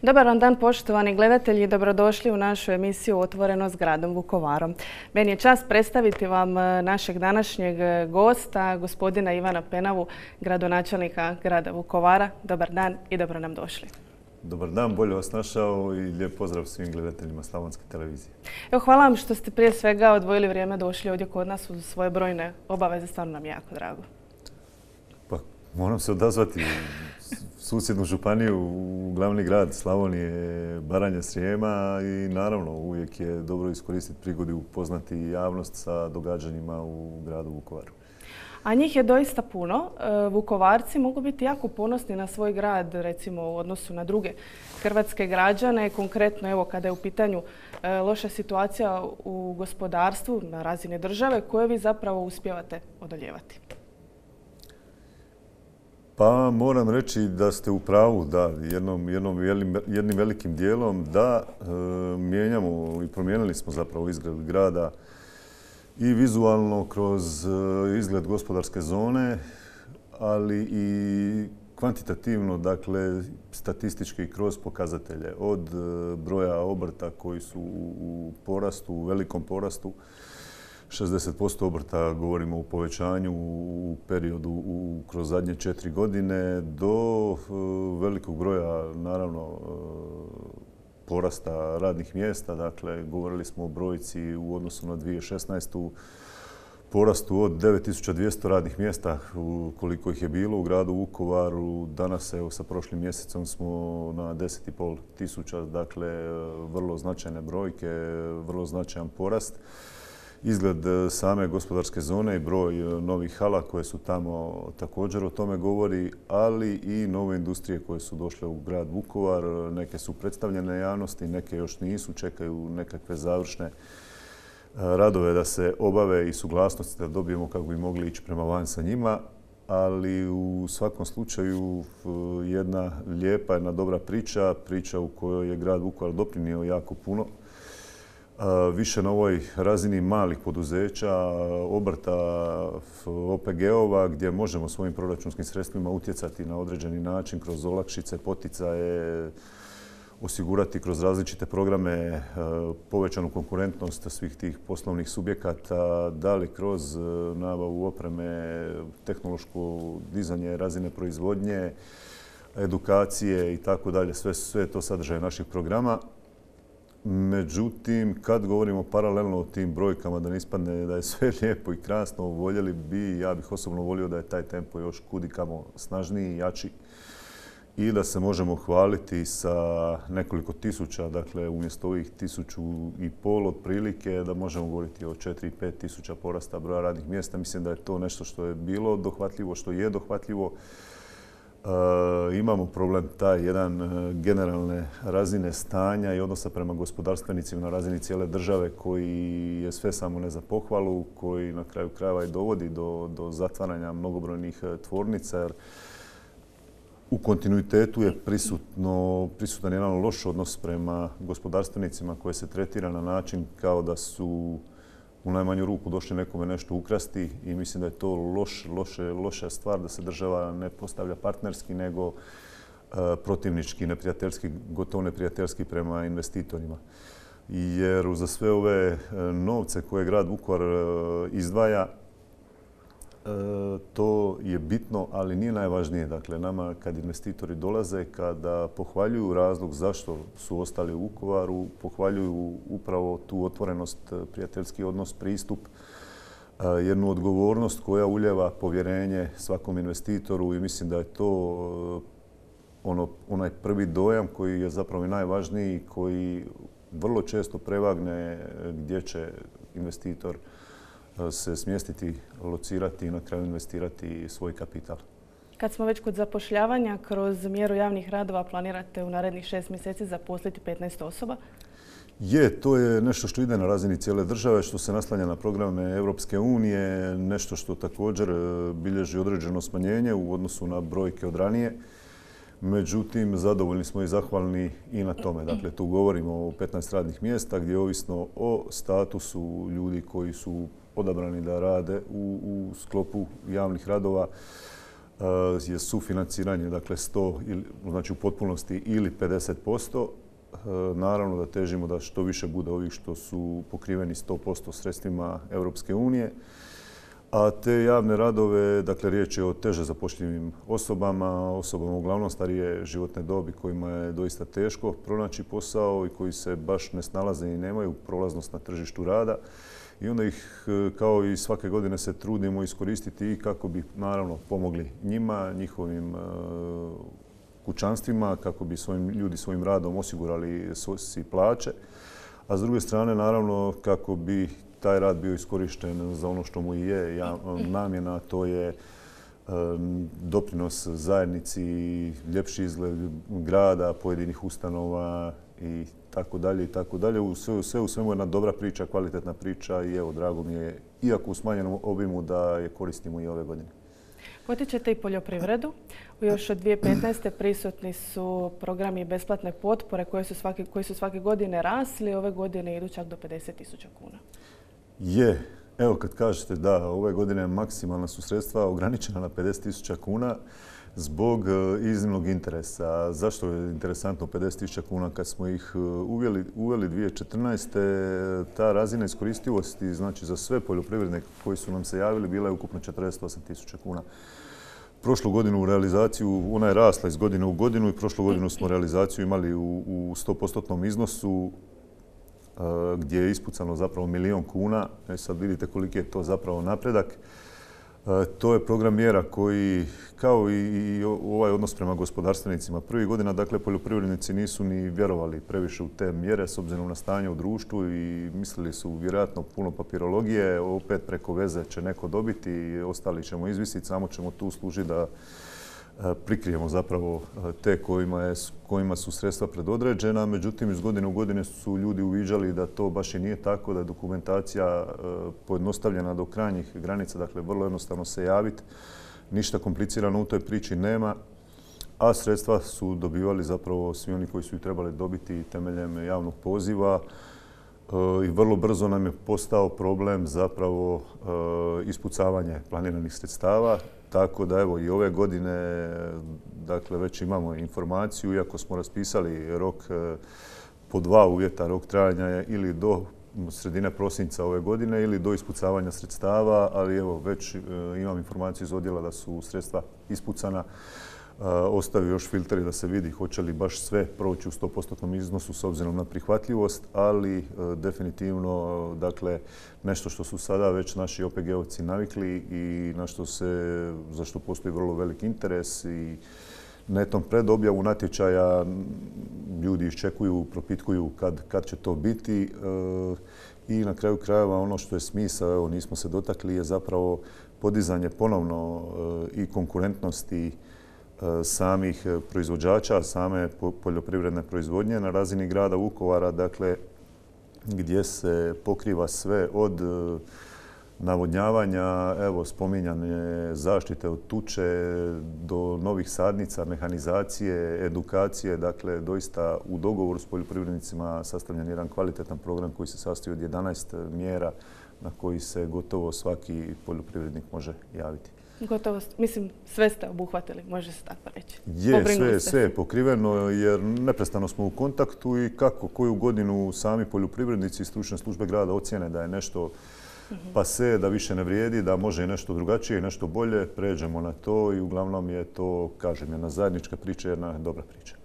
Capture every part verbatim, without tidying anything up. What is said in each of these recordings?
Dobar vam dan, poštovani gledatelji, dobrodošli u našu emisiju Otvoreno s gradom Vukovarom. Meni je čast predstaviti vam našeg današnjeg gosta, gospodina Ivana Penavu, gradonačelnika grada Vukovara. Dobar dan i dobro nam došli. Dobar dan, bolje vas našao i lijep pozdrav svim gledateljima Slavonske televizije. Evo, hvala vam što ste prije svega odvojili vrijeme, došli ovdje kod nas uz svoje brojne obaveze, stvarno nam je jako drago. Pa, moram se odazvati u susjednu županiju, u glavni grad Slavonije, Baranje, Srijema i naravno uvijek je dobro iskoristiti prigodu i upoznati javnost sa događanjima u gradu Vukovaru. A njih je doista puno. Vukovarci mogu biti jako ponosni na svoj grad, recimo u odnosu na druge hrvatske građane. Konkretno, evo, kada je u pitanju loša situacija u gospodarstvu na razini države, koje vi zapravo uspijevate odoljevati? Pa moram reći da ste u pravu, da, jednom, jednom, jednim velikim dijelom da e, mijenjamo i promijenili smo zapravo izgled grada i vizualno kroz izgled gospodarske zone, ali i kvantitativno, dakle, statistički kroz pokazatelje. Od broja obrta koji su u porastu, u velikom porastu, šezdeset posto obrta govorimo o povećanju u periodu u, kroz zadnje četiri godine, do velikog broja, naravno, porasta radnih mjesta. Dakle, govorili smo o brojci u odnosu na dvije tisuće šesnaestu. porastu od devet tisuća dvjesto radnih mjesta koliko ih je bilo u gradu Vukovaru. Danas, evo, sa prošlim mjesecom smo na deset i pol tisuća. Dakle, vrlo značajne brojke, vrlo značajan porast. Izgled same gospodarske zone i broj novih hala koje su tamo također o tome govori, ali i nove industrije koje su došle u grad Vukovar. Neke su predstavljene javnosti, neke još nisu, čekaju nekakve završne radove da se obave i suglasnosti da dobijemo kako bi mogli ići prema van sa njima. Ali u svakom slučaju jedna lijepa, jedna dobra priča, priča u kojoj je grad Vukovar doprinio jako puno. Više na ovoj razini malih poduzeća, obrta, O P G-ova, gdje možemo svojim proračunskim sredstvima utjecati na određeni način kroz olakšice, poticaje, osigurati kroz različite programe povećanu konkurentnost svih tih poslovnih subjekata, da li kroz nabavu opreme, tehnološko dizanje razine proizvodnje, edukacije i tako dalje. Sve, sve to sadržaje naših programa. Međutim, kad govorimo paralelno o tim brojkama, da ne ispadne da je sve lijepo i krasno, voljeli bi, ja bih osobno volio da je taj tempo još kudikamo snažniji i jači i da se možemo hvaliti sa nekoliko tisuća, dakle umjesto ovih tisuću i pol otprilike, da možemo govoriti o četiri i pet tisuća porasta broja radnih mjesta. Mislim da je to nešto što je bilo dohvatljivo, što je dohvatljivo. E, imamo problem taj jedan generalne razine stanja i odnosa prema gospodarstvenicima na razini cijele države koji je sve samo ne za pohvalu, koji na kraju krajeva i dovodi do, do zatvaranja mnogobrojnih tvornica. Jer u kontinuitetu je prisutno, prisutan jedan loš odnos prema gospodarstvenicima koje se tretira na način kao da su u najmanju ruku došli nekome nešto ukrasti i mislim da je to loš, loše, loša stvar da se država ne postavlja partnerski nego uh, protivnički, neprijateljski, gotovo neprijateljski prema investitorima. Jer za sve ove novce koje grad Vukovar uh, izdvaja, to je bitno, ali nije najvažnije. Dakle, nama kad investitori dolaze, kada pohvaljuju razlog zašto su ostali u Vukovaru, pohvaljuju upravo tu otvorenost, prijateljski odnos, pristup, jednu odgovornost koja ulijeva povjerenje svakom investitoru i mislim da je to ono, onaj prvi dojam koji je zapravo najvažniji, koji vrlo često prevagne gdje će investitor se smjestiti, locirati i na kraju investirati svoj kapital. Kad smo već kod zapošljavanja, kroz mjeru javnih radova planirate u narednih šest mjeseci zaposliti petnaest osoba? Je, to je nešto što ide na razini cijele države, što se naslanja na programe Europske unije, nešto što također bilježi određeno smanjenje u odnosu na brojke od ranije. Međutim, zadovoljni smo i zahvalni i na tome. Dakle, tu govorimo o petnaest radnih mjesta gdje ovisno o statusu ljudi koji su odabrani da rade u, u sklopu javnih radova je sufinanciranje, dakle sto, znači u potpunosti ili pedeset posto. Naravno da težimo da što više bude ovih što su pokriveni sto posto sredstvima Europske unije. A te javne radove, dakle riječ je o teže zapošljivim osobama, osobama uglavnom starije životne dobi kojima je doista teško pronaći posao i koji se baš ne snalaze i nemaju prolaznost na tržištu rada. I onda ih kao i svake godine se trudimo iskoristiti i kako bi naravno pomogli njima, njihovim kućanstvima, kako bi svojim, ljudi svojim radom osigurali si plaće. A s druge strane naravno kako bi taj rad bio iskorišten za ono što mu i je namjena, to je doprinos zajednici, ljepši izgled grada, pojedinih ustanova i tako dalje i tako dalje. Sve u svemu jedna dobra priča, kvalitetna priča i evo, drago mi je, iako u smanjenom obimu, da je koristimo i ove godine. Potičete i poljoprivredu. Još od dvije tisuće petnaeste. prisutni su programi besplatne potpore koje su svake, koji su svake godine rasli. Ove godine idu čak do pedeset tisuća kuna. Je. Evo kad kažete da, ove godine maksimalna su sredstva ograničena na pedeset tisuća kuna zbog iznimnog interesa. Zašto je interesantno pedeset tisuća kuna? Kad smo ih uveli, uveli dvije tisuće četrnaeste. ta razina iskoristivosti, znači za sve poljoprivrednike koji su nam se javili, bila je ukupno četrdeset osam tisuća kuna. Prošlu godinu u realizaciju, ona je rasla iz godine u godinu i prošlu godinu smo realizaciju imali u, u sto posto iznosu gdje je ispucano zapravo milijun kuna. E sad vidite koliki je to zapravo napredak. To je program mjera koji, kao i ovaj odnos prema gospodarstvenicima, prvih godina, dakle, poljoprivrednici nisu ni vjerovali previše u te mjere s obzirom na stanje u društvu i mislili su vjerojatno puno papirologije, opet preko veze će neko dobiti i ostali ćemo izvisiti, samo ćemo tu služiti da prikrijemo zapravo te kojima, je, kojima su sredstva predodređena. Međutim, iz godine u godine su ljudi uviđali da to baš i nije tako, da je dokumentacija pojednostavljena do krajnjih granica, dakle vrlo jednostavno se javiti. Ništa komplicirano u toj priči nema, a sredstva su dobivali zapravo svi oni koji su ih trebali dobiti temeljem javnog poziva. I vrlo brzo nam je postao problem zapravo ispucavanje planiranih sredstava. Tako da evo i ove godine dakle, već imamo informaciju, iako smo raspisali rok po dva uvjeta, rok trajanja je ili do sredine prosinca ove godine ili do ispucavanja sredstava, ali evo već imam informaciju iz odjela da su sredstva ispucana. Ostaju još filteri da se vidi hoće li baš sve proći u sto posto iznosu s obzirom na prihvatljivost, ali definitivno dakle, nešto što su sada već naši O P G-ovci navikli i na što se, za što postoji vrlo velik interes i netom pred objavu natječaja ljudi iščekuju, propitkuju kad, kad će to biti i na kraju krajeva ono što je smisao, evo nismo se dotakli, je zapravo podizanje ponovno i konkurentnosti samih proizvođača, same poljoprivredne proizvodnje na razini grada Vukovara, dakle, gdje se pokriva sve od navodnjavanja, evo, spominjane zaštite od tuče do novih sadnica, mehanizacije, edukacije, dakle, doista u dogovoru s poljoprivrednicima sastavljen jedan kvalitetan program koji se sastoji od jedanaest mjera na koji se gotovo svaki poljoprivrednik može javiti. Gotovo, mislim, sve ste obuhvatili, može se tako reći. Je, sve, sve je pokriveno jer neprestano smo u kontaktu i kako koju godinu sami poljoprivrednici i stručne službe grada ocjene da je nešto uh-huh. pase, da više ne vrijedi, da može i nešto drugačije i nešto bolje, pređemo na to i uglavnom je to, kažem, jedna zajednička priča, jedna dobra priča.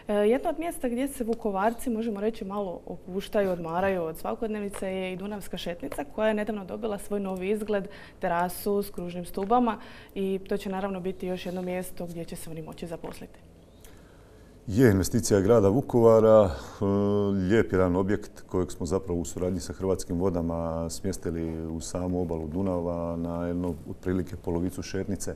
Jedno od mjesta gdje se Vukovarci, možemo reći, malo opuštaju, odmaraju od svakodnevice je i Dunavska šetnica koja je nedavno dobila svoj novi izgled, terasu s kružnim stubama i to će naravno biti još jedno mjesto gdje će se oni moći zaposliti. Je investicija grada Vukovara, lijep jedan objekt kojeg smo zapravo u suradnji sa Hrvatskim vodama smjestili u samu obalu Dunava na jednu otprilike polovicu šetnice.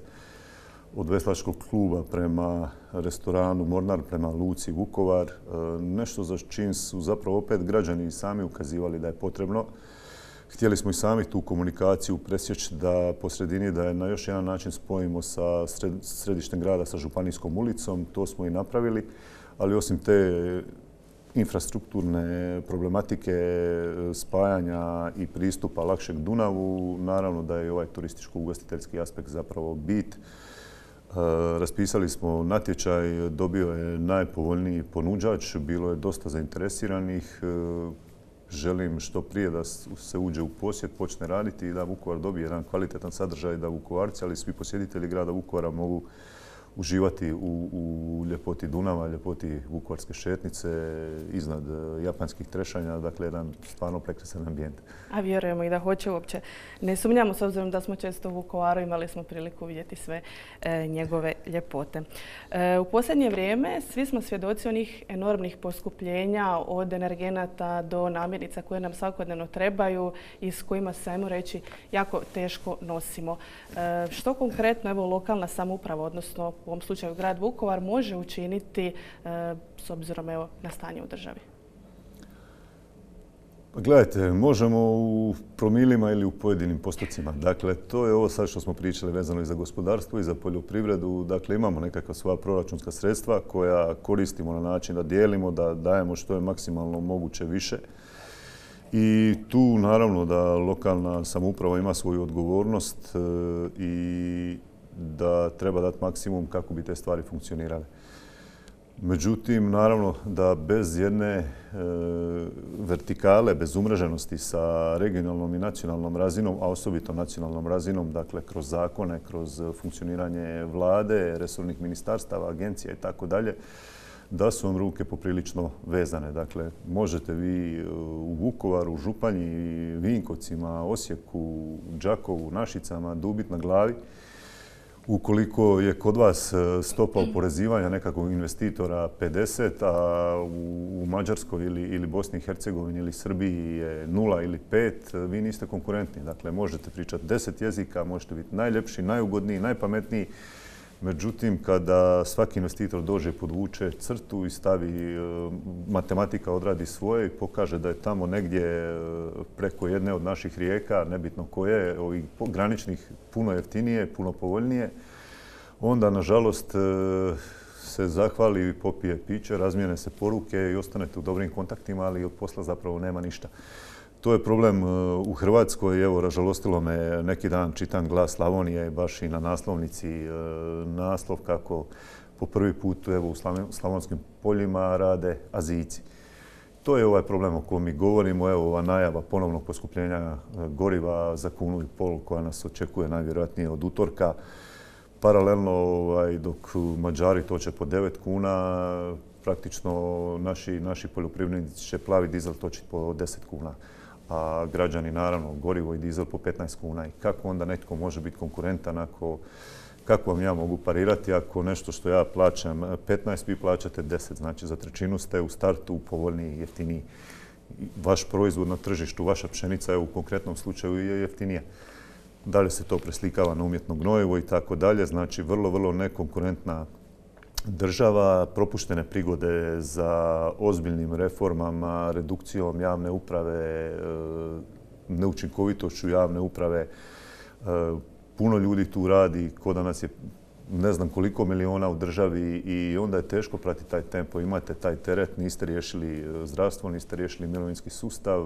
Od veslačkog kluba prema restoranu Mornar, prema luci Vukovar. Nešto za čim su zapravo opet građani sami ukazivali da je potrebno. Htjeli smo i sami tu komunikaciju presjeći da po sredini da je na još jedan način spojimo sa središtem grada, sa Županijskom ulicom. To smo i napravili, ali osim te infrastrukturne problematike spajanja i pristupa lakšeg Dunavu, naravno da je ovaj turističko-ugostiteljski aspekt zapravo bit. Raspisali smo natječaj, dobio je najpovoljniji ponuđač, bilo je dosta zainteresiranih. Želim što prije da se uđe u posjed, počne raditi i da Vukovar dobije jedan kvalitetan sadržaj, da Vukovarci, ali i svi posjetitelji grada Vukovara mogu uživati u, u ljepoti Dunava, ljepoti vukovarske šetnice, iznad japanskih trešanja, dakle jedan stvarno prekrasan ambijent. A vjerujemo i da hoće uopće. Ne sumnjamo, s obzirom da smo često u Vukovaru, imali smo priliku vidjeti sve e, njegove ljepote. E, u posljednje vrijeme svi smo svjedoci onih enormnih poskupljenja od energenata do namirnica koje nam svakodnevno trebaju i s kojima se, ajmo reći, jako teško nosimo. E, što konkretno evo, lokalna samouprava, odnosno u ovom slučaju grad Vukovar, može učiniti e, s obzirom evo, na stanje u državi? Gledajte, možemo u promilima ili u pojedinim postocima. Dakle, to je ovo sad što smo pričali vezano i za gospodarstvo i za poljoprivredu. Dakle, imamo nekakva svoja proračunska sredstva koja koristimo na način da dijelimo, da dajemo što je maksimalno moguće više. I tu naravno da lokalna samouprava ima svoju odgovornost i da treba dati maksimum kako bi te stvari funkcionirale. Međutim, naravno da bez jedne e, vertikale, bez umreženosti sa regionalnom i nacionalnom razinom, a osobito nacionalnom razinom, dakle kroz zakone, kroz funkcioniranje vlade, resornih ministarstava, agencija i tako dalje, da su vam ruke poprilično vezane. Dakle, možete vi u Vukovaru, Županji, Vinkovcima, Osijeku, Đakovu, Našicama dubit na glavi. Ukoliko je kod vas stopa oporezivanja nekakvog investitora pedeset, a u Mađarskoj ili, ili Bosni i Hercegovini ili Srbiji je nula ili pet, vi niste konkurentni. Dakle, možete pričati deset jezika, možete biti najljepši, najugodniji, najpametniji. Međutim, kada svaki investitor dođe, podvuče crtu i stavi, matematika odradi svoje i pokaže da je tamo negdje preko jedne od naših rijeka, nebitno koje, ovih graničnih, puno jeftinije, puno povoljnije, onda, nažalost, se zahvali i popije piće, razmijene se poruke i ostanete u dobrim kontaktima, ali od posla zapravo nema ništa. To je problem u Hrvatskoj. Evo, ražalostilo me, neki dan čitam Glas Slavonije, baš i na naslovnici naslov kako po prvi put evo, u slavonskim poljima rade Azijci. To je ovaj problem o kojem mi govorimo. Evo, ova najava ponovnog poskupljenja goriva za kunu i pol koja nas očekuje najvjerojatnije od utorka. Paralelno, ovaj, dok Mađari toče po devet kuna, praktično naši, naši poljoprivrednici će plavi dizel točiti po deset kuna. A građani, naravno, gorivo i dizel po petnaest kuna. I kako onda netko može biti konkurentan ako, kako vam ja mogu parirati ako nešto što ja plaćam petnaest, vi plaćate deset. Znači, za trećinu ste u startu povoljniji, jeftiniji. Vaš proizvod na tržištu, vaša pšenica je u konkretnom slučaju je jeftinija. Da li se to preslikava na umjetno gnojivo i tako dalje. Znači, vrlo, vrlo nekonkurentna država, propuštene prigode za ozbiljnim reformama, redukcijom javne uprave, neučinkovitošću javne uprave. Puno ljudi tu radi, ko da nas je ne znam koliko miliona u državi i onda je teško pratiti taj tempo. Imate taj teret, niste riješili zdravstvo, niste riješili mirovinski sustav,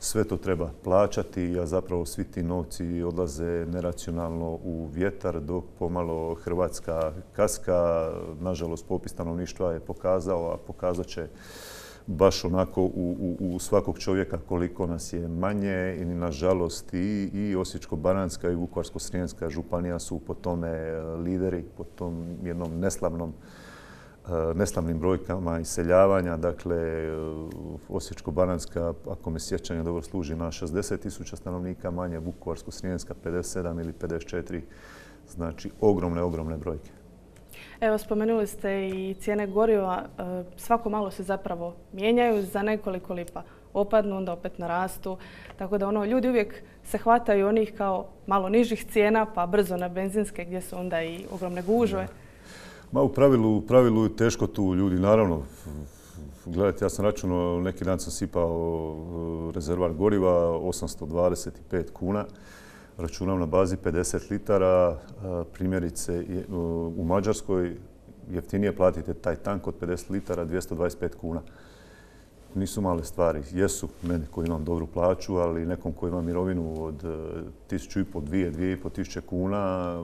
sve to treba plaćati, a zapravo svi ti novci odlaze neracionalno u vjetar dok pomalo Hrvatska kaska. Nažalost, popis stanovništva je pokazao, a pokazat će baš onako u, u, u svakog čovjeka koliko nas je manje i nažalost i, i Osječko-baranjska i Vukovarsko-srijemska županija su po tome lideri, po tom jednom neslavnom neslavnim brojkama iseljavanja. Dakle, Osječko-baranjska, ako me sjećanje dobro služi, na šezdeset tisuća stanovnika manje, Vukovarsko-srijemska pedeset sedam ili pedeset četiri. Znači, ogromne, ogromne brojke. Evo, spomenuli ste i cijene goriva. Svako malo se zapravo mijenjaju, za nekoliko lipa opadnu, onda opet narastu. Tako da ono, ljudi uvijek se hvataju onih kao malo nižih cijena, pa brzo na benzinske gdje su onda i ogromne gužve. Ma u pravilu, u pravilu je teško tu ljudi, naravno. Gledajte, ja sam računao, neki dan sam sipao rezervar goriva, osamsto dvadeset pet kuna. Računam na bazi pedeset litara. Primjerice, u Mađarskoj jeftinije platite taj tank od pedeset litara, dvjesto dvadeset pet kuna. nisu male stvari. Jesu meni koji imam dobru plaću, ali nekom koji ima mirovinu od tisuću i pol, dvije, dvije i pol tisuće kuna,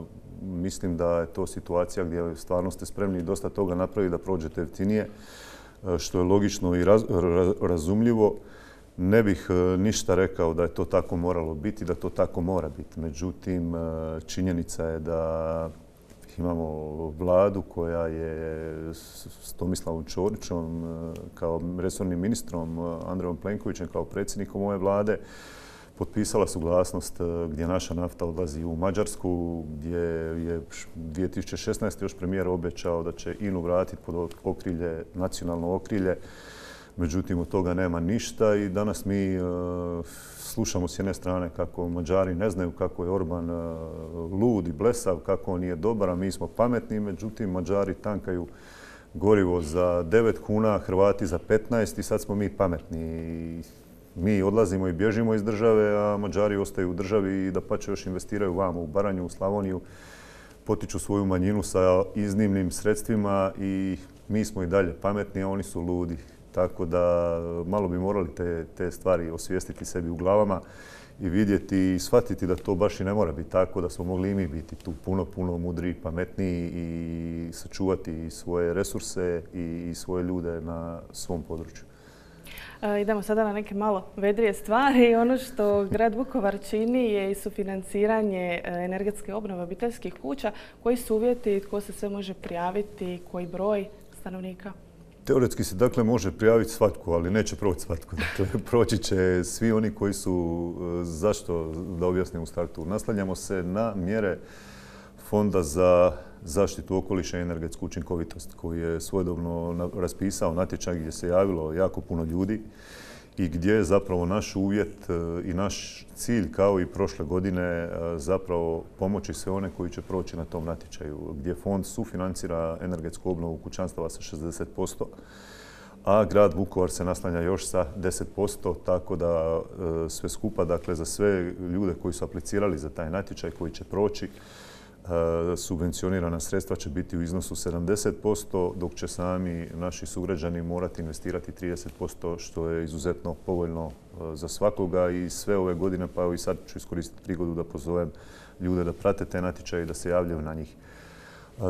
mislim da je to situacija gdje stvarno ste spremni dosta toga napraviti da prođete jeftinije, što je logično i raz, razumljivo. Ne bih ništa rekao da je to tako moralo biti, da to tako mora biti. Međutim, činjenica je da imamo vladu koja je s Tomislavom Ćorićom kao resornim ministrom, Andrejom Plenkovićem kao predsjednikom ove vlade potpisala suglasnost gdje naša nafta odlazi u Mađarsku, gdje je dvije tisuće šesnaeste. još premijer obećao da će I N A-u vratiti pod okrilje, nacionalno okrilje. Međutim, od toga nema ništa i danas mi uh, slušamo s jedne strane kako Mađari ne znaju kako je Orban uh, lud i blesav, kako on nije dobar, a mi smo pametni. Međutim, Mađari tankaju gorivo za devet kuna, Hrvati za petnaest i sad smo mi pametni. I mi odlazimo i bježimo iz države, a Mađari ostaju u državi i dapače još investiraju vamo u Baranju, u Slavoniju, potiču svoju manjinu sa iznimnim sredstvima i mi smo i dalje pametni, a oni su ludi. Tako da malo bi morali te, te stvari osvijestiti sebi u glavama i vidjeti i shvatiti da to baš i ne mora biti tako, da smo mogli i mi biti tu puno, puno mudriji, pametniji i sačuvati svoje resurse i svoje ljude na svom području. E, idemo sada na neke malo vedrije stvari. Ono što grad Vukovar čini je i sufinanciranje energetske obnove obiteljskih kuća. Koji su uvjeti, tko se sve može prijaviti, koji broj stanovnika? Teoretski se dakle može prijaviti svatko, ali neće proći svatko. Dakle, proći će svi oni koji su, zašto da objasnim u startu, naslanjamo se na mjere Fonda za zaštitu okoliša i energetsku učinkovitost koji je svojedobno raspisao natječaj gdje se javilo jako puno ljudi i gdje je zapravo naš uvjet i naš cilj kao i prošle godine zapravo pomoći sve one koji će proći na tom natječaju, gdje fond sufinancira energetsku obnovu kućanstava sa šezdeset posto, a grad Vukovar se naslanja još sa deset posto, tako da sve skupa, dakle za sve ljude koji su aplicirali za taj natječaj koji će proći, subvencionirana sredstva će biti u iznosu sedamdeset posto, dok će sami naši sugrađani morati investirati trideset posto, što je izuzetno povoljno za svakoga i sve ove godine, pa evo i sad ću iskoristiti prigodu da pozovem ljude da prate te natječaje i da se javljaju na njih.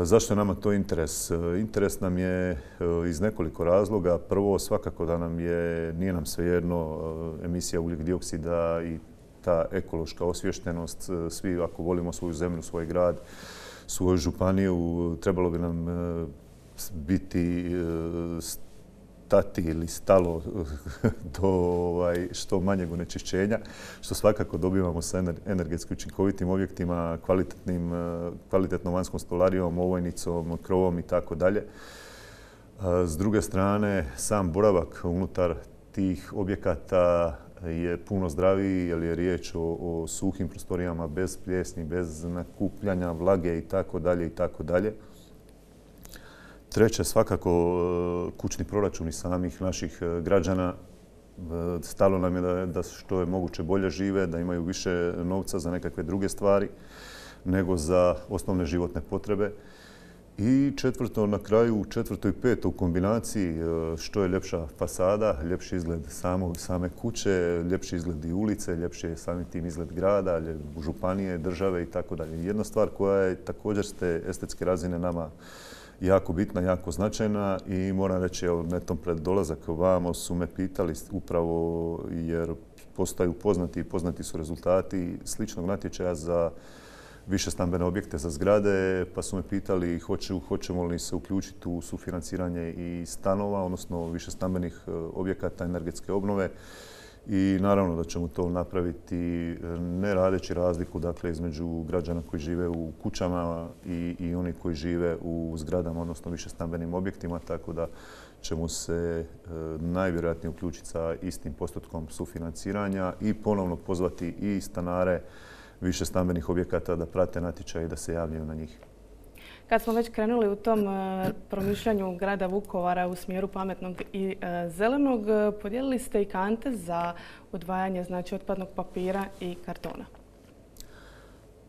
Zašto je nama to interes? Interes nam je iz nekoliko razloga. Prvo, svakako da nam je, nije nam svejedno emisija ugljik dioksida i ta ekološka osviještenost. Svi ako volimo svoju zemlju, svoj grad, svoju županiju, trebalo bi nam biti stati ili stalo do ovaj, što manjeg onečišćenja, što svakako dobivamo sa energetski učinkovitim objektima, kvalitetnim, kvalitetnom vanjskom stolarijom, ovojnicom, krovom i tako dalje. S druge strane, sam boravak unutar tih objekata je puno zdraviji jer je riječ o, o suhim prostorijama bez pljesni, bez nakupljanja vlage i tako dalje i tako dalje. Treće, svakako kućni proračuni samih naših građana. Stalo nam je da, da što je moguće bolje žive, da imaju više novca za nekakve druge stvari nego za osnovne životne potrebe. I četvrto, na kraju, četvrto i peto u kombinaciji, što je ljepša fasada, ljepši izgled samog, same kuće, ljepši izgled i ulice, ljepši je samim tim izgled grada, županije, države i tako dalje. Jedna stvar koja je također s te estetske razine nama jako bitna, jako značajna i moram reći, evo, netom pred dolazak vamo su me pitali upravo jer postaju poznati i poznati su rezultati sličnog natječaja za više stambene objekte za zgrade, pa su me pitali hoću, hoćemo li se uključiti u sufinanciranje i stanova, odnosno više stambenih objekata energetske obnove. I naravno da ćemo to napraviti ne radeći razliku dakle, između građana koji žive u kućama i, i oni koji žive u zgradama, odnosno više stambenim objektima, tako da ćemo se e, najvjerojatnije uključiti sa istim postotkom sufinanciranja i ponovno pozvati i stanare više stambenih objekata da prate natječaj i da se javljaju na njih. Kad smo već krenuli u tom promišljanju grada Vukovara u smjeru pametnog i zelenog, podijelili ste i kante za odvajanje znači, otpadnog papira i kartona.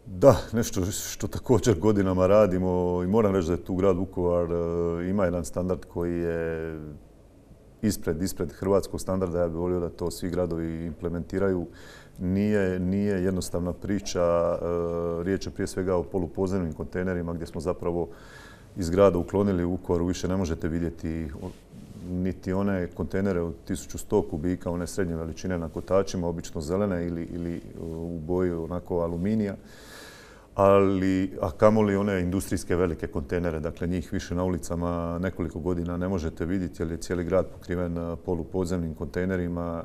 Da, nešto što također godinama radimo i moram reći da je tu grad Vukovar ima jedan standard koji je ispred, ispred hrvatskog standarda. Ja bih volio da to svi gradovi implementiraju. Nije, nije jednostavna priča. Riječ je prije svega o polupodzemnim kontejnerima gdje smo zapravo iz grada uklonili u Vukovaru. Više ne možete vidjeti niti one kontejnere od tisuću sto kubika, one srednje veličine na kotačima, obično zelene ili, ili u boji onako aluminija. Ali, a kamoli one industrijske velike kontejnere, dakle njih više na ulicama nekoliko godina ne možete vidjeti jer je cijeli grad pokriven polupodzemnim kontejnerima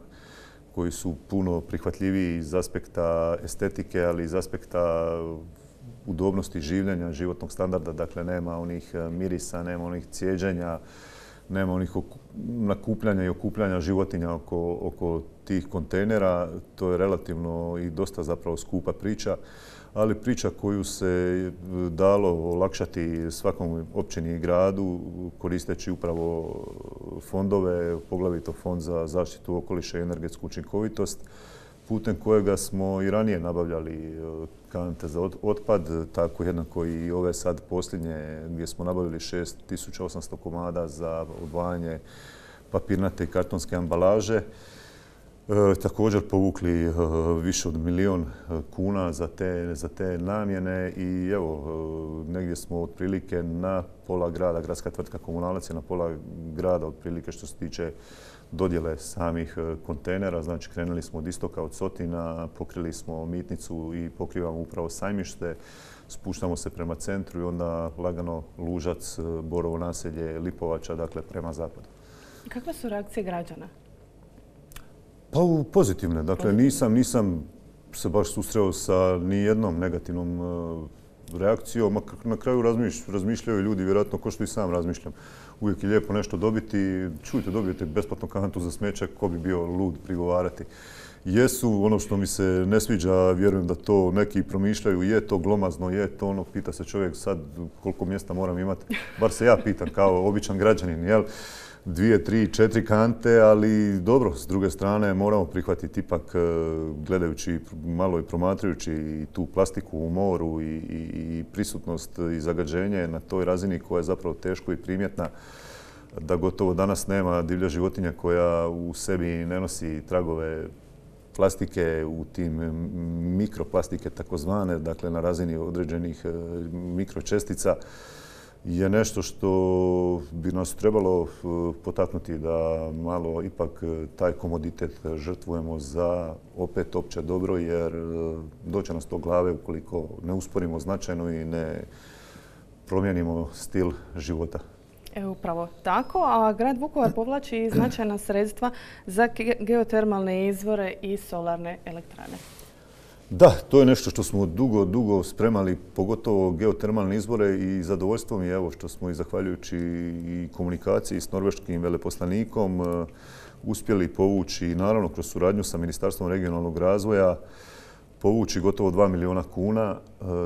koji su puno prihvatljiviji iz aspekta estetike, ali iz aspekta udobnosti življenja, životnog standarda. Dakle, nema onih mirisa, nema onih cijeđenja, nema onih nakupljanja i okupljanja životinja oko, oko tih kontejnera. To je relativno i dosta zapravo skupa priča, ali priča koju se dalo olakšati svakom općini i gradu koristeći upravo fondove, poglavito Fond za zaštitu okoliša i energetsku učinkovitost, putem kojega smo i ranije nabavljali kante za otpad, tako jednako i ove sad posljednje gdje smo nabavili šest tisuća osamsto komada za odvajanje papirnate i kartonske ambalaže. E, također povukli e, više od milijun kuna za te, za te namjene i evo, e, negdje smo otprilike na pola grada, gradska tvrtka Komunalac je na pola grada otprilike što se tiče dodjele samih kontejnera. Znači, krenuli smo od istoka, od Sotina, pokrili smo Mitnicu i pokrivamo upravo Sajmište. Spuštamo se prema centru i onda lagano Lužac, Borovo naselje, Lipovača, dakle prema zapadu. Kakve su reakcije građana? Pa pozitivne. Dakle, nisam, nisam se baš susreo sa nijednom negativnom reakcijom. Na kraju razmišljaju ljudi, vjerojatno ko što i sam razmišljam. Uvijek je lijepo nešto dobiti. Čujte, dobijete besplatnu kantu za smeće, ko bi bio lud prigovarati. Jesu, ono što mi se ne sviđa, vjerujem da to neki promišljaju, je to glomazno, je to ono, pita se čovjek sad koliko mjesta moram imati. Bar se ja pitam kao običan građanin, jel? Dvije, tri, četiri kante, ali dobro, s druge strane moramo prihvatiti ipak gledajući malo i promatrajući i tu plastiku u moru i, i, i prisutnost i zagađenje na toj razini koja je zapravo teško i primjetna, da gotovo danas nema divlja životinja koja u sebi ne nosi tragove plastike u tim mikroplastike takozvane, dakle na razini određenih mikročestica, je nešto što bi nas trebalo potaknuti da malo ipak taj komoditet žrtvujemo za opet opće dobro, jer doće nas to glave ukoliko ne usporimo značajno i ne promijenimo stil života. E, upravo tako, a grad Vukovar povlači značajna sredstva za geotermalne izvore i solarne elektrane. Da, to je nešto što smo dugo, dugo spremali, pogotovo geotermalne izvore i zadovoljstvo mi je evo što smo i zahvaljujući i komunikaciji s norveškim veleposlanikom uspjeli povući i naravno kroz suradnju sa Ministarstvom regionalnog razvoja povući gotovo dva milijuna kuna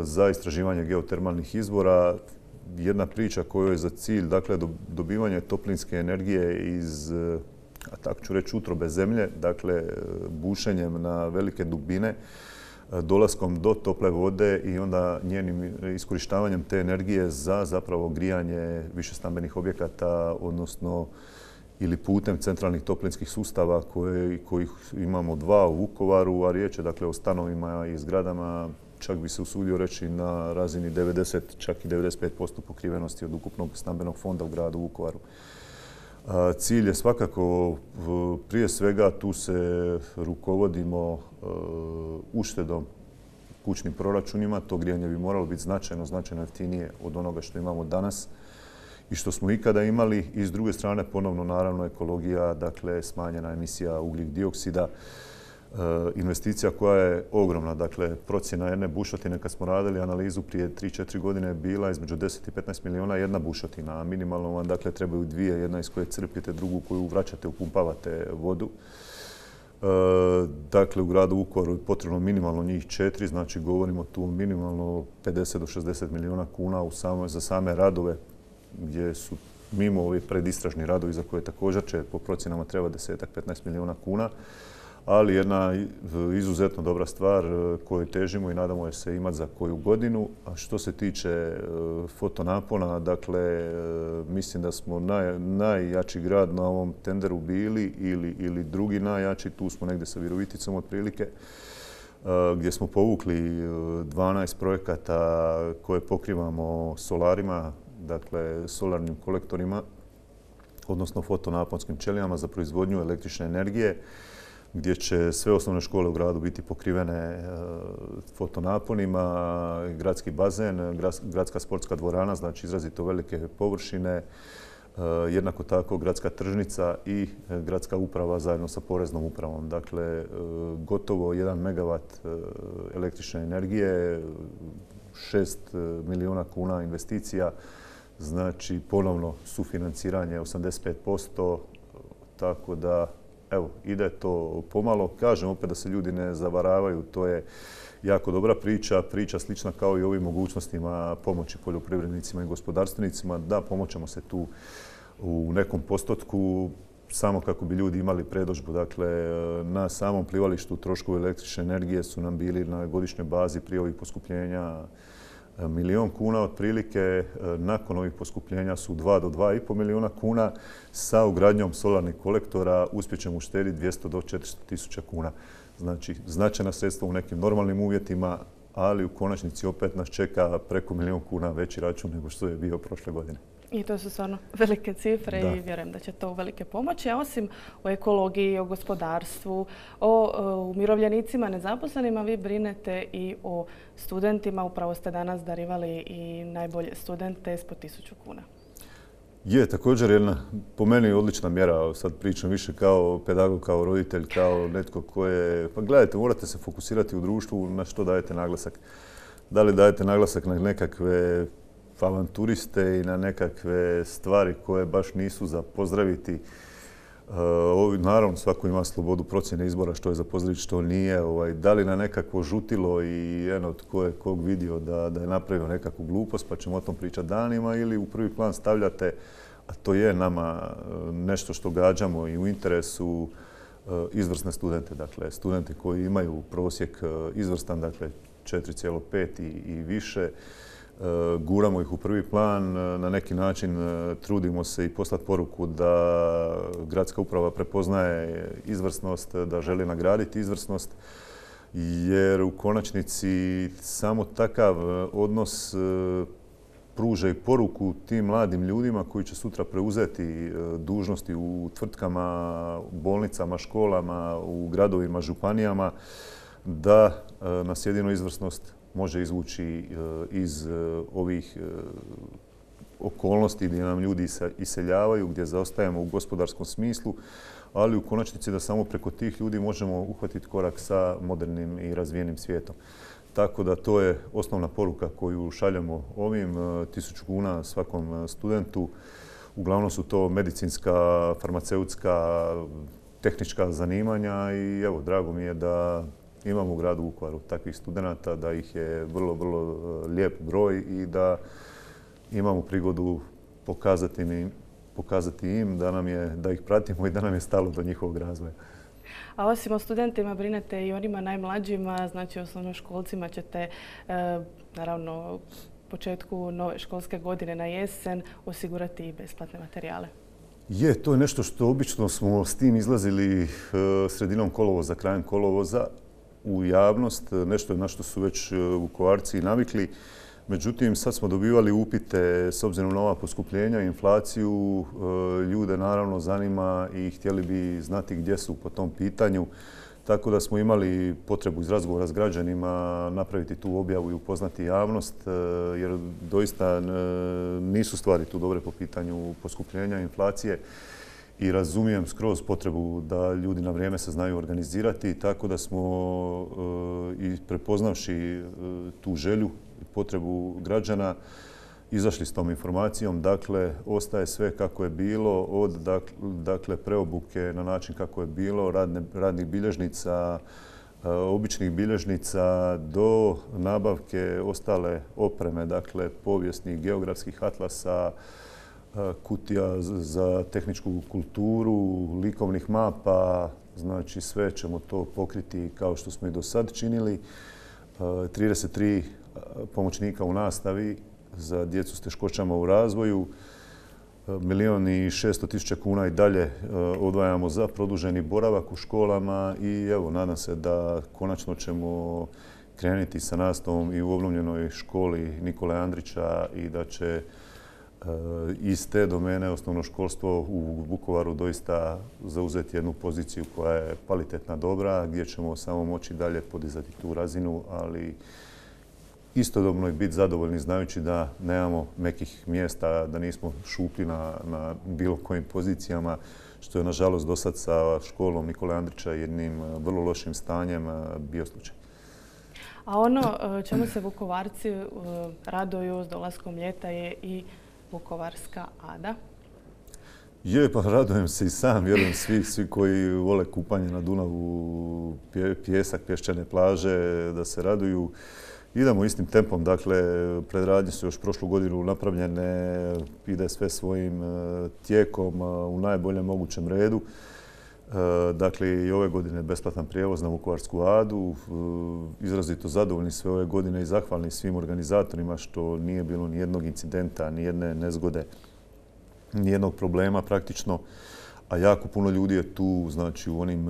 za istraživanje geotermalnih izvora. Jedna priča koja je za cilj, dakle, dobivanje toplinske energije iz, a tako ću reći, utrobe zemlje, dakle, bušenjem na velike dubine, dolaskom do tople vode i onda njenim iskorištavanjem te energije za zapravo grijanje višestambenih objekata, odnosno ili putem centralnih toplinskih sustava koje, kojih imamo dva u Vukovaru, a riječ je dakle o stanovima i zgradama, čak bi se usudio reći na razini devedeset, čak i devedeset pet posto pokrivenosti od ukupnog stambenog fonda u gradu Vukovaru. Cilj je svakako, prije svega tu se rukovodimo uštedom kućnim proračunima. To grijanje bi moralo biti značajno, značajno jeftinije od onoga što imamo danas i što smo ikada imali. I s druge strane, ponovno, naravno, ekologija, dakle, smanjena emisija ugljik dioksida. Investicija koja je ogromna, dakle, procjena jedne bušotine, kad smo radili analizu prije tri četiri godine, je bila između deset i petnaest milijuna jedna bušotina, a minimalno vam, dakle, trebaju dvije, jedna iz koje crpite, drugu koju vraćate, upumpavate vodu. E, dakle, u gradu Vukovaru je potrebno minimalno njih četiri, znači govorimo tu minimalno pedeset do šezdeset milijuna kuna u samo, za same radove, gdje su mimo ovi predistražni radovi za koje također će po procjenama treba deset do petnaest milijuna kuna. ali jedna izuzetno dobra stvar koju težimo i nadamo se imati za koju godinu. A što se tiče fotonapona, dakle, mislim da smo naj, najjači grad na ovom tenderu bili ili, ili drugi najjači, tu smo negdje sa Viroviticom otprilike, gdje smo povukli dvanaest projekata koje pokrivamo solarima, dakle solarnim kolektorima, odnosno fotonaponskim ćelijama za proizvodnju električne energije, gdje će sve osnovne škole u gradu biti pokrivene fotonaponima, gradski bazen, gradska sportska dvorana, znači izrazito velike površine, jednako tako gradska tržnica i gradska uprava zajedno sa poreznom upravom. Dakle, gotovo jedan megavat električne energije, šest milijuna kuna investicija, znači ponovno sufinanciranje osamdeset pet posto, tako da evo, ide to pomalo. Kažem opet da se ljudi ne zavaravaju, to je jako dobra priča, priča slična kao i ovim mogućnostima pomoći poljoprivrednicima i gospodarstvenicima. Da, pomoćemo se tu u nekom postotku, samo kako bi ljudi imali predodžbu. Dakle, na samom plivalištu troškovi električne energije su nam bili na godišnjoj bazi prije ovih poskupljenja milijon kuna otprilike. Nakon ovih poskupljenja su dva do dva i pol milijuna kuna. Sa ugradnjom solarnih kolektora uspjećemo uštediti dvjesto do četiristo tisuća kuna. Znači, značajna sredstva u nekim normalnim uvjetima, ali u konačnici opet nas čeka preko milijun kuna veći račun nego što je bio prošle godine. I to su stvarno velike cifre Da. I vjerujem da će to velike pomoći. A osim o ekologiji, o gospodarstvu, o, o umirovljenicima, nezaposlenima, vi brinete i o studentima. Upravo ste danas darivali i najbolje studente s po tisuću kuna. Je, također jedna, po meni, odlična mjera. Sad pričam više kao pedagog, kao roditelj, kao netko ko je... Pa gledajte, morate se fokusirati u društvu na što dajete naglasak. Da li dajete naglasak na nekakve avanturiste i na nekakve stvari koje baš nisu za pozdraviti. Ovi, naravno, svako ima slobodu procjene izbora što je za pozdraviti, što nije. Ovaj, da li na nekakvo žutilo i eno tko je kog vidio da, da je napravio nekakvu glupost, pa ćemo o tom pričati danima, ili u prvi plan stavljate, a to je nama nešto što gađamo i u interesu, izvrsne studente. Dakle, studenti koji imaju prosjek izvrstan, dakle četiri zarez pet i, i više, guramo ih u prvi plan, na neki način trudimo se i poslati poruku da gradska uprava prepoznaje izvrsnost, da želi nagraditi izvrsnost, jer u konačnici samo takav odnos pruža i poruku tim mladim ljudima koji će sutra preuzeti dužnosti u tvrtkama, bolnicama, školama, u gradovima, županijama, da nas jedino izvrsnost može izvući iz ovih okolnosti gdje nam ljudi iseljavaju, gdje zaostajemo u gospodarskom smislu, ali u konačnici da samo preko tih ljudi možemo uhvatiti korak sa modernim i razvijenim svijetom. Tako da to je osnovna poruka koju šaljemo ovim, tisuću kuna svakom studentu. Uglavnom su to medicinska, farmaceutska, tehnička zanimanja i evo, drago mi je da imamo u gradu Vukovaru takvih studenata, da ih je vrlo, vrlo lijep broj i da imamo prigodu pokazati im, pokazati im da, nam je, da ih pratimo i da nam je stalo do njihovog razvoja. A osim o studentima brinete i onima najmlađima, znači osnovnoškolcima ćete, e, naravno, početku nove školske godine na jesen osigurati i besplatne materijale. Je, to je nešto što obično smo s tim izlazili sredinom kolovoza, krajem kolovoza u javnost, nešto na što su već Vukovarci navikli. Međutim, sad smo dobivali upite s obzirom na ova poskupljenja i inflaciju. Ljude naravno zanima i htjeli bi znati gdje su po tom pitanju. Tako da smo imali potrebu iz razgovora s građanima napraviti tu objavu i upoznati javnost, jer doista nisu stvari tu dobre po pitanju poskupljenja i inflacije. I razumijem skroz potrebu da ljudi na vrijeme se znaju organizirati, tako da smo i prepoznavši tu želju i potrebu građana izašli s tom informacijom. Dakle, ostaje sve kako je bilo, od dakle, preobuke na način kako je bilo, radne, radnih bilježnica, običnih bilježnica do nabavke ostale opreme, dakle povijesnih, geografskih atlasa, kutija za tehničku kulturu, likovnih mapa, znači sve ćemo to pokriti kao što smo i do sad činili. trideset tri pomoćnika u nastavi za djecu s teškoćama u razvoju. Milijon i šesto tisuća kuna i dalje odvajamo za produženi boravak u školama i evo, nadam se da konačno ćemo krenuti sa nastavom i u obnovljenoj školi Nikole Andrića i da će iz te domene osnovno školstvo u Vukovaru doista zauzeti jednu poziciju koja je kvalitetna, dobra, gdje ćemo samo moći dalje podizati tu razinu, ali istodobno i biti zadovoljni znajući da nemamo mekih mjesta, da nismo šuplji na, na bilo kojim pozicijama, što je nažalost do sad sa školom Nikole Andrića jednim vrlo lošim stanjem bio slučaj. A ono čemu se Vukovarci raduju s dolaskom ljeta je i Vukovarska Ada. Je, pa radujem se i sam, vjerujem svi, svi koji vole kupanje na Dunavu, pjesak, pješčane plaže, da se raduju. Idemo istim tempom, dakle, predradnje su još prošlu godinu napravljene, ide sve svojim tijekom u najboljem mogućem redu. Dakle, i ove godine besplatan prijevoz na Vukovarsku Adu. Izrazito zadovoljni sve ove godine i zahvalni svim organizatorima što nije bilo ni jednog incidenta, ni jedne nezgode, ni jednog problema praktično. A jako puno ljudi je tu, znači u onim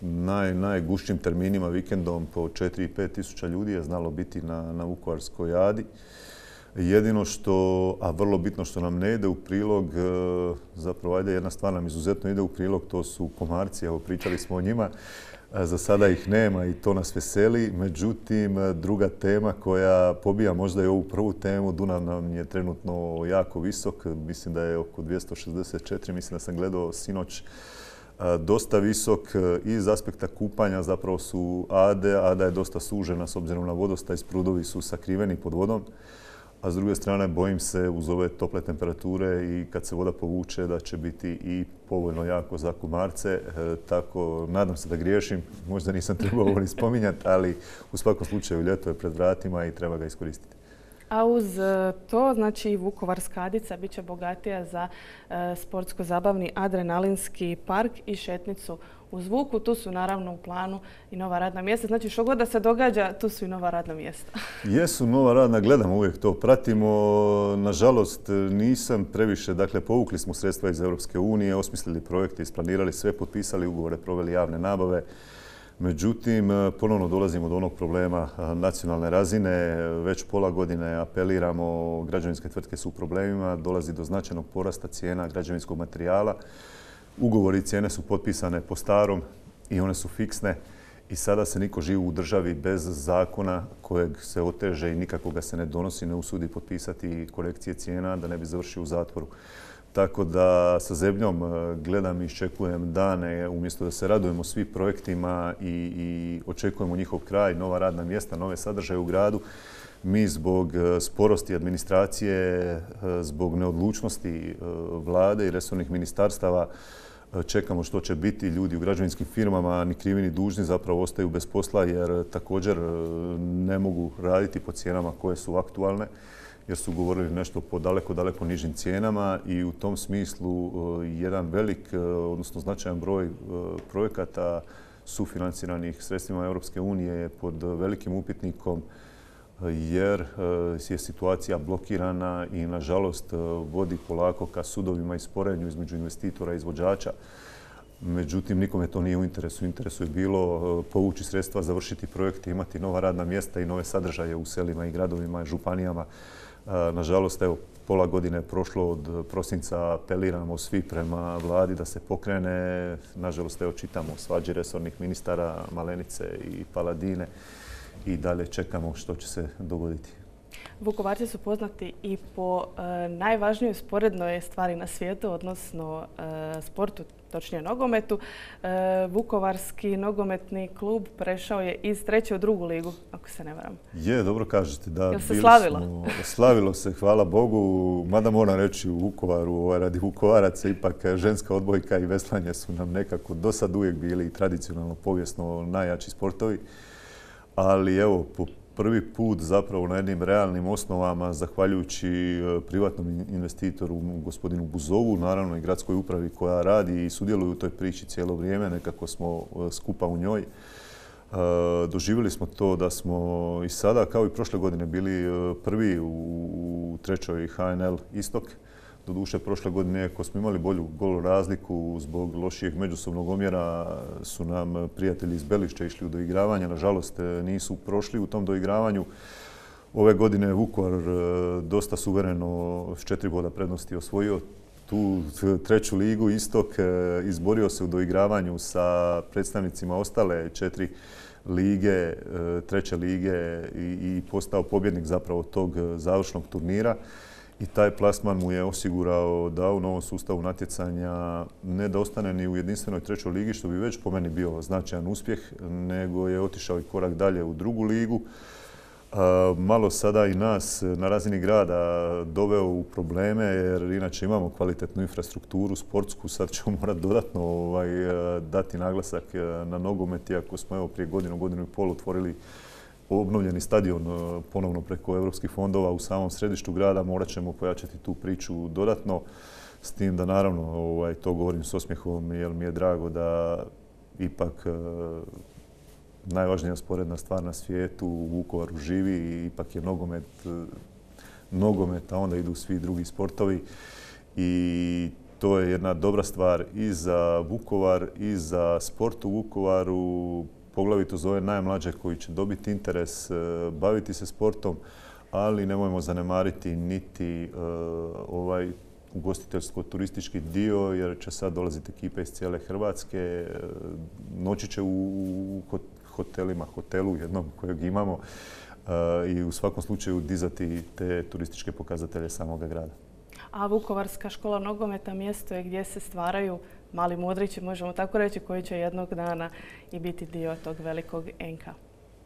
naj, najgušćim terminima vikendom po četiri do pet tisuća ljudi je znalo biti na, na Vukovarskoj Adi. Jedino što, a vrlo bitno što nam ne ide u prilog, zapravo ajde jedna stvar nam izuzetno ide u prilog, to su komarci, evo pričali smo o njima, za sada ih nema i to nas veseli. Međutim, druga tema koja pobija možda i ovu prvu temu, Dunav nam je trenutno jako visok, mislim da je oko dvjesto šezdeset četiri, mislim da sam gledao sinoć, dosta visok iz aspekta kupanja, zapravo su Ade, Ada je dosta sužena s obzirom na vodostaj, sprudovi su sakriveni pod vodom. A s druge strane, bojim se uz ove tople temperature i kad se voda povuče da će biti i povoljno jako za komarce. E, tako, nadam se da griješim, možda nisam trebao ovo ni spominjati, ali u svakom slučaju ljeto je pred vratima i treba ga iskoristiti. A uz to, znači i Vukovarska Adica bit će bogatija za e, sportsko-zabavni adrenalinski park i šetnicu uz Vuku. Tu su naravno u planu i nova radna mjesta. Znači što god da se događa, tu su i nova radna mjesta. Jesu nova radna, gledamo uvijek to, pratimo. Nažalost, nisam previše, dakle povukli smo sredstva iz Europske unije, osmislili projekte, isplanirali sve, potpisali ugovore, proveli javne nabave. Međutim, ponovno dolazimo do onog problema nacionalne razine. Već pola godine apeliramo, građevinske tvrtke su u problemima, dolazi do značajnog porasta cijena građevinskog materijala. Ugovori i cijene su potpisane po starom i one su fiksne i sada se niko živi u državi bez zakona kojeg se oteže i nikako ga se ne donosi, ne usudi potpisati korekcije cijena da ne bi završio u zatvoru. Tako da sa zebnjom gledam i iščekujem dane, umjesto da se radujemo svim projektima i, i očekujemo njihov kraj, nova radna mjesta, nove sadržaje u gradu. Mi zbog sporosti administracije, zbog neodlučnosti vlade i resornih ministarstava čekamo što će biti. Ljudi u građevinskim firmama, ni krivi ni dužni, zapravo ostaju bez posla jer također ne mogu raditi po cijenama koje su aktualne, jer su govorili nešto po daleko, daleko nižim cijenama i u tom smislu jedan velik, odnosno značajan broj projekata sufinanciranih sredstvima Europske unije je pod velikim upitnikom jer je situacija blokirana i nažalost vodi polako ka sudovima i sporenju između investitora i izvođača. Međutim, nikome to nije u interesu. U interesu je bilo povući sredstva, završiti projekte, imati nova radna mjesta i nove sadržaje u selima i gradovima i županijama. Nažalost, evo, pola godine je prošlo od prosinca, apeliramo svi prema vladi da se pokrene. Nažalost, evo, čitamo svađe resornih ministara Malenice i Paladine i dalje čekamo što će se dogoditi. Vukovarci su poznati i po e, najvažnijoj sporednoj stvari na svijetu, odnosno e, sportu, točnije nogometu. E, Vukovarski nogometni klub prešao je iz treće u drugu ligu, ako se ne varam. Je, dobro kažete. Da, Jel se slavilo? Smo, slavilo se, hvala Bogu. Mada moram reći u Vukovaru, ovaj, radi Vukovaraca, ipak ženska odbojka i veslanje su nam nekako do sad uvijek bili tradicionalno, povijesno najjači sportovi. Ali evo, po prvi put zapravo na jednim realnim osnovama, zahvaljujući privatnom investitoru, gospodinu Buzovu, naravno i gradskoj upravi koja radi i sudjeluje u toj priči cijelo vrijeme, nekako smo skupa u njoj. Doživjeli smo to da smo i sada, kao i prošle godine, bili prvi u trećoj H N L Istok. Doduše, prošle godine, ako smo imali bolju gol razliku zbog lošijeg međusobnog omjera, su nam prijatelji iz Belišća išli u doigravanje. Nažalost, nisu prošli u tom doigravanju. Ove godine je Vukovar dosta suvereno s četiri boda prednosti osvojio tu treću ligu Istok, izborio se u doigravanju sa predstavnicima ostale četiri lige, treće lige i postao pobjednik zapravo tog završnog turnira. I taj plasman mu je osigurao da u novom sustavu natjecanja ne da ostane ni u jedinstvenoj trećoj ligi, što bi već po meni bio značajan uspjeh, nego je otišao i korak dalje u drugu ligu. Malo sada i nas na razini grada doveo u probleme, jer inače imamo kvalitetnu infrastrukturu sportsku. Sad ćemo morati dodatno ovaj, dati naglasak na nogomet, iako smo evo prije godinu, godinu i pol otvorili obnovljeni stadion ponovno preko europskih fondova u samom središtu grada. Morat ćemo pojačati tu priču dodatno, s tim da naravno ovaj, to govorim s osmijehom, jer mi je drago da ipak najvažnija sporedna stvar na svijetu u Vukovaru živi i ipak je nogomet, nogomet, a onda idu svi drugi sportovi. I to je jedna dobra stvar i za Vukovar i za sport u Vukovaru, poglavito za ove najmlađe koji će dobiti interes baviti se sportom, ali nemojmo zanemariti niti ovaj ugostiteljsko-turistički dio, jer će sad dolaziti ekipe iz cijele Hrvatske. Noći će u hotelima, hotelu jednom kojeg imamo i u svakom slučaju dizati te turističke pokazatelje samoga grada. A Vukovarska škola nogometa mjesto je gdje se stvaraju mali mudrići, možemo tako reći, koji će jednog dana i biti dio tog velikog en ka.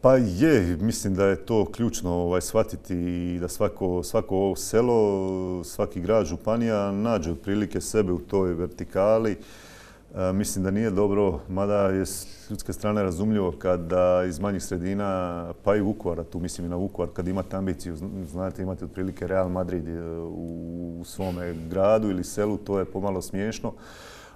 Pa je, mislim da je to ključno ovaj, shvatiti i da svako, svako ovo selo, svaki grad, županija nađe otprilike sebe u toj vertikali. E, mislim da nije dobro, mada je s ljudske strane razumljivo kada iz manjih sredina, pa i Vukovara, tu mislim i na Vukovar, kad imate ambiciju, znate, imate otprilike Real Madrid u svome gradu ili selu, to je pomalo smiješno.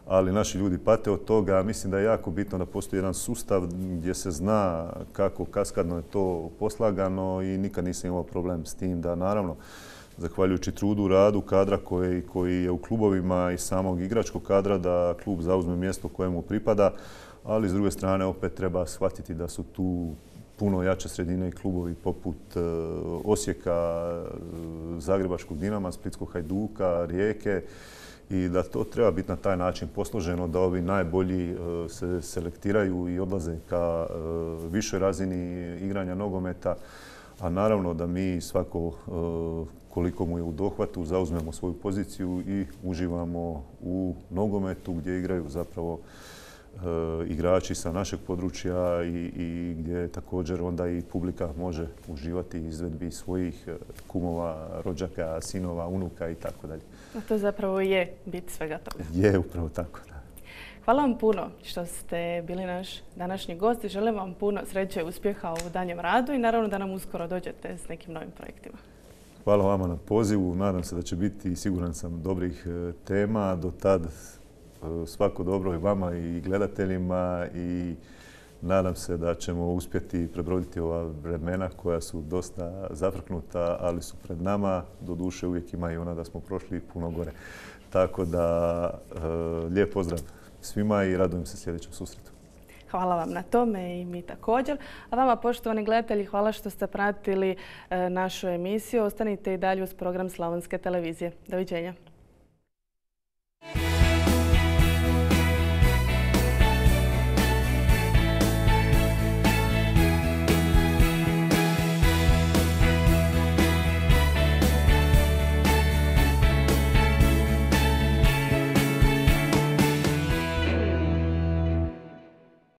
Ali naši ljudi pate od toga. Mislim da je jako bitno da postoji jedan sustav gdje se zna kako kaskadno je to poslagano i nikad nisam imao problem s tim da, naravno, zahvaljujući trudu, radu kadra koji, koji je u klubovima i samog igračkog kadra, da klub zauzme mjesto kojemu pripada, ali s druge strane opet treba shvatiti da su tu puno jače sredine i klubovi poput Osijeka, Zagrebačkog Dinama, Splitskog Hajduka, Rijeke, i da to treba biti na taj način posloženo, da ovi najbolji se selektiraju i odlaze ka višoj razini igranja nogometa, a naravno da mi svako koliko mu je u dohvatu zauzmemo svoju poziciju i uživamo u nogometu gdje igraju zapravo igrači sa našeg područja i, i gdje također onda i publika može uživati izvedbi svojih kumova, rođaka, sinova, unuka i tako dalje. A to zapravo je bit svega toga. Je, upravo tako, da. Hvala vam puno što ste bili naš današnji gost i želim vam puno sreće i uspjeha u danjem radu i naravno da nam uskoro dođete s nekim novim projektima. Hvala vama na pozivu. Nadam se da će biti, siguran sam, dobrih tema. Do tad svako dobro i vama i gledateljima i nadam se da ćemo uspjeti prebroditi ova vremena koja su dosta zafrknuta, ali su pred nama. Doduše uvijek ima i ona da smo prošli puno gore. Tako da lijep pozdrav svima i radujem se sljedećem susretu. Hvala vam na tome i mi također. A vama, poštovani gledatelji, hvala što ste pratili našu emisiju. Ostanite i dalje uz program Slavonske televizije. Doviđenja.